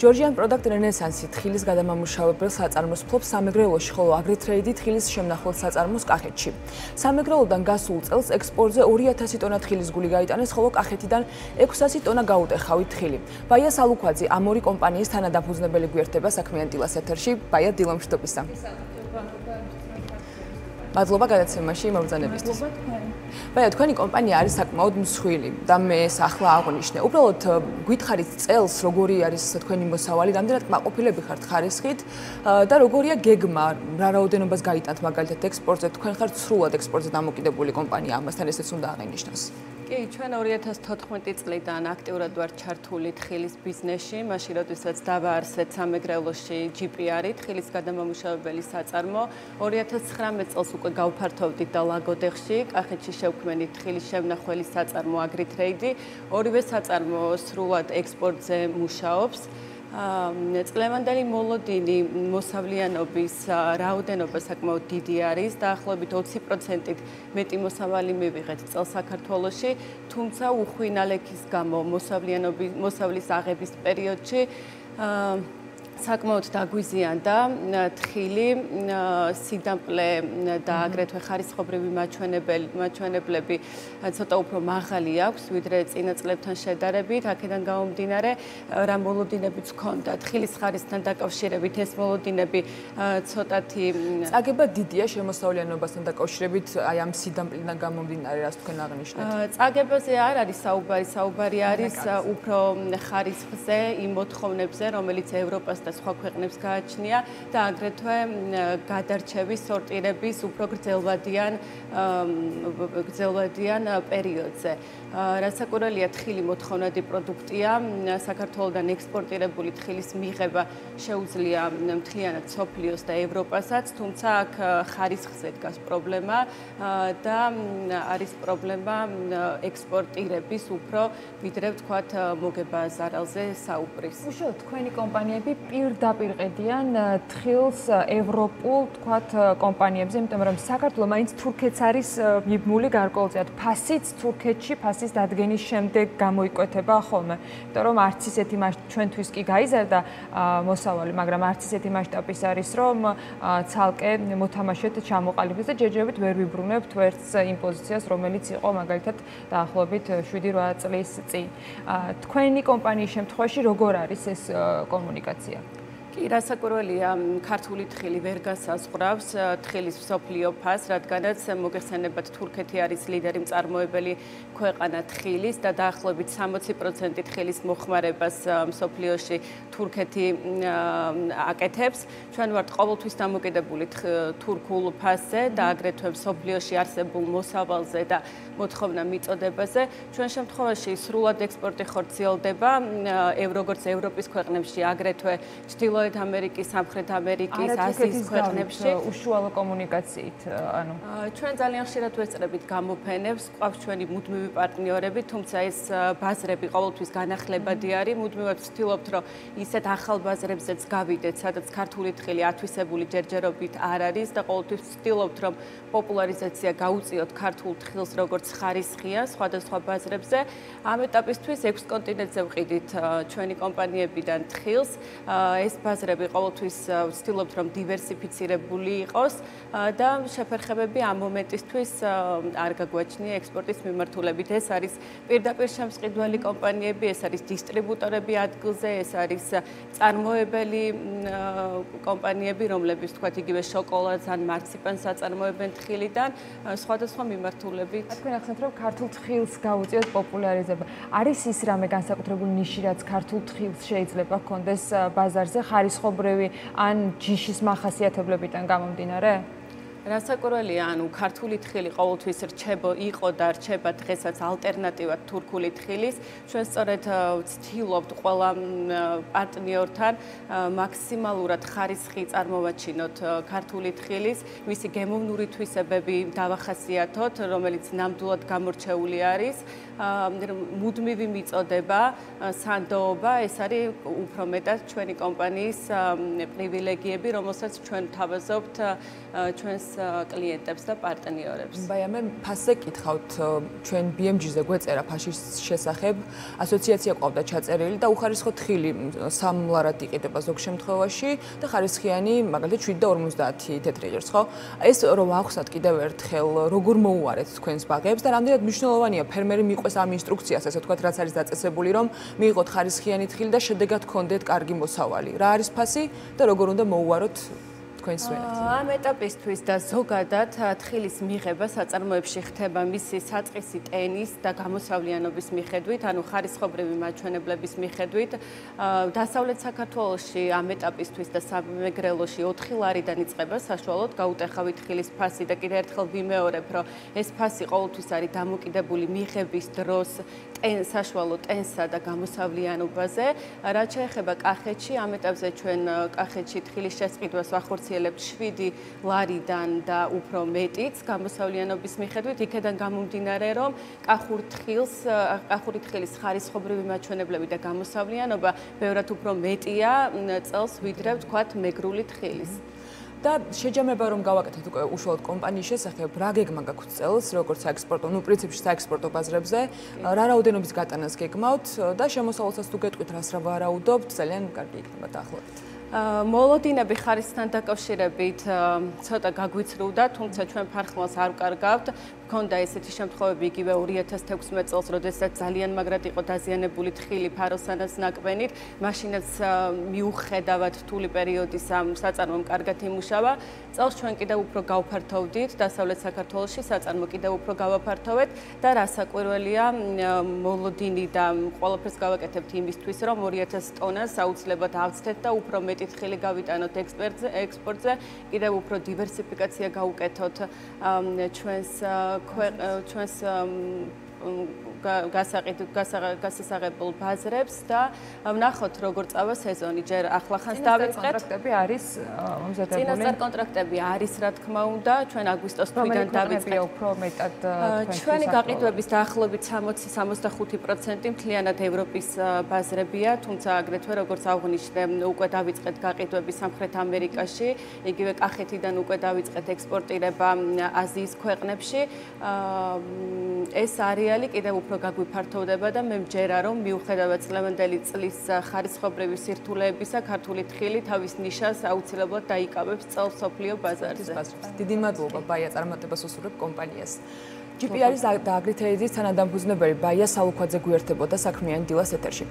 Georgian Product Renaissance თხილის გადამამუშავებელ საწარმოს ფლობს სამეგრელოში, ხოლო Agritrade თხილის შემნახულ საწარმოს კახეთში. სამეგრელოდან გასულ წელს ექსპორტზე 2000 ტონა თხილის გული გაიტანეს, ხოლო კახეთიდან 600 ტონა გაუტეხავით თხილი. ბაია სალუქვაძე ამ ორი კომპანიის თანადაფუძნებელი გვერდება საქმიან დილას ეთერში. ბაია, დილამშვიდობისა. მადლობა გადაცემაში მობრძანებისთვის. ბაია, თქვენი კომპანია არის საკმაოდ მსხვილი და მე ახლა აღვნიშნე. უბრალოდ გითხარით წელს როგორი არის თქვენი მოსავალი, რამდენად კმაყოფილები ხართ ხარისხით და როგორია გეგმა, რა რაოდენობას გაიტანთ მაგალითად ექსპორტზე, თქვენ ხართ სრულად ექსპორტზე დამოკიდებული კომპანია, ამასთან ესეც უნდა აღინიშნოს. კი, ჩვენ 2014 წლიდან აქტიურად ვართ ჩართული თხილის ბიზნესში, მაშინ როდესაც დავაარსეთ სამეგრელოში GPR-ი, თხილის გადამამუშავებელი საწარმო. 2019 წელს უკვე გავფართოვდით და ლაგოდეხში, კახეთში შევქმნით თხილის შემნახველი საწარმო Agritrade. ორივე საწარმო სრულად ექსპორტზე მუშაობს. წლევანდელი მოლოდინი მოსავლიანობის რაოდენობა საკმაოდ დიდი არის, დაახლოებით 20%-ით მეტი მოსავალი მივიღეთ წელს საქართველოში, თუმცა უხვინალექის გამო მოსავლის აღების პერიოდში საკმაოდ დაგვიზიანდა თხილი, სიდამპლე და აგრეთვე ხარისხობრივი მაჩვენებლები ცოტა უფრო მაღალი აქვს, ვიდრე წინა წლებთან შედარებით. აქედან გამომდინარე, რა მოლოდინებიც ჰქონდა თხილის ხარისთან დაკავშირებით, ეს მოლოდინები ცოტათი წაგება დიდია შემოსავლიანობასთან დაკავშირებით, აი ამ სიდამპლიდან გამომდინარე, რას თქვენ აღნიშნეთ? წაგებაზე არ არის საუბარი არის უფრო ხარისხზე, იმ მოთხოვნებზე, რომელიც ევროპას და სხვა ქვეყნებს გააჩნია და აგრეთვე გადარჩევის, სორტირების უფრო გრძელვადიან პერიოდზე. რასაკვირველია, თხილი მოთხოვნადი პროდუქტია, საქართველოსდან ექსპორტირებული თხილის მიღება შეუძლია მთლიანად მსოფლიოს და ევროპასაც, თუმცა აქ ხარისხზე დგას პრობლემა და არის პრობლემა ექსპორტირების უფრო, ვიდრე ვთქვათ, მოგება ზარალზე საუბრის. უშუალოდ თქვენი კომპანიები პირდაპირ ყიდიან თხილს ევროპულ, თქვათ, კომპანიებზე, იმიტომ რომ საქართველო მაინც თურქეთს არის მიბმული გარკვეულწილად. ფასიც თურქეთში, ფასის დადგენის შემდეგ გამოიკვეთება ხოლმე. იმიტომ რომ არც ისეთი ჩვენთვის კი გაიზარდა მოსავალი, მაგრამ არც ისეთი მასშტაბის არის, რომ ცალკე მოთამაშეთ ჩამოყალიბდეს და ჯერჯერობით ვერ ვიბრუნებთ ვერც იმ პოზიციას, რომელიც იყო მაგალითად დაახლოებით 7-8 წლის წინ. თქვენი კომპანიის შემთხვევაში როგორ არის ეს კომუნიკაცია? კი, რასაკვირველია, ქართული თხილი ვერ გასაზღვრავს თხილის მსოფლიო ფასს, რადგანაც მოგეხსენებათ, თურქეთი არის ლიდერი მწარმოებელი ქვეყანა თხილის და დაახლოებით 60% თხილის მოხმარებას მსოფლიოში თურქეთი აკეთებს. ჩვენ ვართ ყოველთვის დამოკიდებული თურქულ ფასზე და აგრეთვე მსოფლიოში არსებულ მოსავალზე და მოთხოვნა მიწოდებაზე. ჩვენ შემთხვევაში სრულად ექსპორტი ხორციელდება როგორც ევროპის ქვეყნებში, აგრეთვე ჩრდილოეთ ამერიკის, სამხრეთ ამერიკის, აზიის ქვეყნებში. უშუალო კომუნიკაციით, ანუ ჩვენ ძალიან ხშირად ვესწრებით გამოფენებს, ყავს ჩვენი მუდმივი პარტნიორები, თუმცა ეს ბაზრები ყოველთვის განახლებადი არის. მუდმივად ვცდილობთ, რომ ისეთ ახალ ბაზრებზეც გავიდეთ, სადაც ქართული თხილი ათვისებული ჯერჯერობით არ არის და ყოველთვის ვცდილობთ, რომ პოპულარიზაცია გაუწიოთ ქართულ თხილს როგორც ხარისხია სხვადასხვა ბაზრებზე. ამ ეტაპისთვის 6 კონტინენტზე ვყიდით ჩვენი კომპანიებიდან თხილს. ეს ბაზრები ყოველთვის ვცდილობთ, რომ დივერსიფიცირებული იყოს და შეფერხებები ამ მომენტისთვის არ გაგვაჩნია ექსპორტის მიმართულებით. ეს არის პირდაპირ შემსყიდველი კომპანიები, ეს არის დისტრიბუტორები ადგილზე, ეს არის წარმოებელი კომპანიები, რომლებიც თქვათ იგივე შოკოლადს ან მარციპანს აწარმოებენ თხილიდან, სხვადასხვა მიმართულებით. თქვენ ახსენეთ, რომ ქართულ თხილს გაუწიოთ პოპულარიზება. არის ის რამე განსაკუთრებული ნიში, რაც ქართულ თხილს შეიძლება ჰქონდეს ბაზარზე, ხარისხობრივი ან ჯიშის მახასიათებლებიდან გამომდინარე? რასაკვირველია, ანუ ქართული თხილი ყოველთვის იყო და რჩება დღესაც ალტერნატივად თურქული თხილის. ჩვენ სწორედ ვცდილობთ ყველა პარტნიორთან მაქსიმალურად ხარისხი წარმოვაჩინოთ ქართული თხილის, მისი გემოვნური თვისებები დავახასიათოთ, რომელიც ნამდვილად გამორჩეული არის. მუდმივი მიწოდება, სანდოობა, ეს არის უფრო მეტად ჩვენი კომპანიის პრივილეგიები, რომელსაც ჩვენ ვთავაზობთ ჩვენს კლიენტებს და პარტნიორებს. მე ფასზე კითხავთ, ჩვენ BMG-ზე გვეწერა ფაშის შესახებ, ასოციაცია ყავდა ჩაწერილი და უხარისხო თხილი სამლარად იყიდება ზოგ შემთხვევაში და ხარისხიანი მაგალითად 7.50 თეთრი ღირს, ხო? ეს რომ ახსნათ კიდევ ერთხელ, როგორ მოუარეთ თქვენს ბაღებს და რამდენად მნიშვნელოვანია ფერმერი მიყვეს ამ ინსტრუქციას, ასე ვთქვათ, რაც არის დაწესებული, რომ მიიღოთ ხარისხიანი თხილი და შედეგად გქონდეთ კარგი მოსავალი. რა არის ფასი და როგორ უნდა მოუაროთ თქვენს ვენად? ამ ეტაპისთვის და ზოგადად თხილის მიღება საწარმოებში ხდება მისი საწყისი ტენის და გამოსავლიანობის მიხედვით, ანუ ხარისხობრივი მაჩვენებლების მიხედვით. დასავლეთ საქართველოში ამ ეტაპისთვის და სამეგრელოში 4 ლარიდან იწყება საშუალოდ გაუტეხავი თხილის ფასი და კიდევ ერთხელ ვიმეორებ, რომ ეს ფასი ყოველთვის არის დამოკიდებული მიღების დროს საშუალო ტენსა და გამოსავლიანობაზე. რაც შეეხება კახეთში, ამ ეტაპზე ჩვენ კახეთში თხილის შესყიდვას ვახორციელებთ 7 ლარიდან და უფრო მეტიც გამოსავლიანობის მიხედვით, იქედან გამომდინარე, რომ კახური თხილის ხარისხობრივი მაჩვენებლები და გამოსავლიანობა ბევრად უფრო მეტია წელს, ვიდრე ვთქვათ მეგრული თხილის. და შეჯამება რომ გავაკეთოთ უკვე უშუალოდ კომპანიის შესახებ, რა გეგმა გაქვთ წელს, როგორც საექსპორტო, პრინციპში საექსპორტო ბაზრებზე, რა რაოდენობის გატანას გეგმავთ და შემოსავალსაც თუ გეტყვით, რას რა ვარაუდობთ, ძალიან კარგი იქნება დაახლოებით. მოლოდინები ხარისთან დაკავშირებით ცოტა გაგვიცრუდა, თუმცა ჩვენ ფარხმალს არ ვკარგავთ. მქონდა ესეთი შემთხვევები იგივე 2016 წელს, როდესაც ძალიან მაგრად იყო დაზიანებული თხილი ფაროსანას ნაკბენით, მაშინაც მიუხედავად რთული პერიოდის ამ საწარმომ კარგად იმუშავა. წელს ჩვენ კიდევ უფრო გავფართოვდით, დასავლეთ საქართველოში საწარმო კიდევ უფრო გავაფართოვეთ და რასაკვირველია, მოლოდინი და ყველაფერს გავაკეთებთ იმისთვის, რომ 2000 ტონას აუცილებლად ავცდეთ და უფრო მეტი თხილი გავიტანოთ ექსპორტზე, კიდევ უფრო დივერსიფიკაცია გავუკეთოთ ჩვენს გასასაღებულ ბაზრებს და ვნახოთ როგორ წავა სეზონი. ჯერ ახლახანს დავიწყეთ. კონტრაქტები არის მომზადებული. წინასწარ კონტრაქტები არის, რა თქმა უნდა, ჩვენ აგვისტოს თვიდან დავიწყეთ. უფრო მეტად ჩვენი გაყიდვების დაახლოებით 60-65% მთლიანად ევროპის ბაზრებია, თუმცა აგრეთვე როგორც აღვნიშნე, უკვე დავიწყეთ გაყიდვები სამხრეთ ამერიკაში, იგივე კახეთიდან უკვე დავიწყეთ ექსპორტირება აზიის ქვეყნებში. ეს არეალი კიდევ უფრო გაგვიფართოვდება და მე მჯერა, რომ მიუხედავად წლევანდელი წლის ხარისხობრივი სირთულეებისა, ქართული თხილი თავის ნიშას აუცილებლად დაიკავებს წელს მსოფლიო ბაზარზე. დიდი მადლობა ბაია, წარმატებას უსურვებ კომპანიას. GP არის და აგრითეიდის თანადამფუძნებელი ბაია სალუქვაძე გვერდებოდა საქმიანი დილას ეთერში.